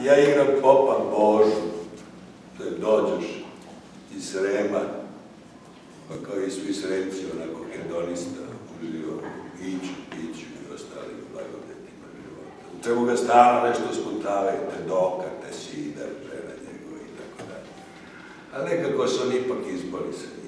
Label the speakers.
Speaker 1: ja igram popa Božu, to je dođeš iz Srema, pa kao i svi Sremci, onako hedonista, uživo iću, piću i ostalim blagodetima života. U čemu ga stalno nešto spuntavajte, dokate, sidar, žena njegova i tako dalje. Ali nekako se on ipak izbori se.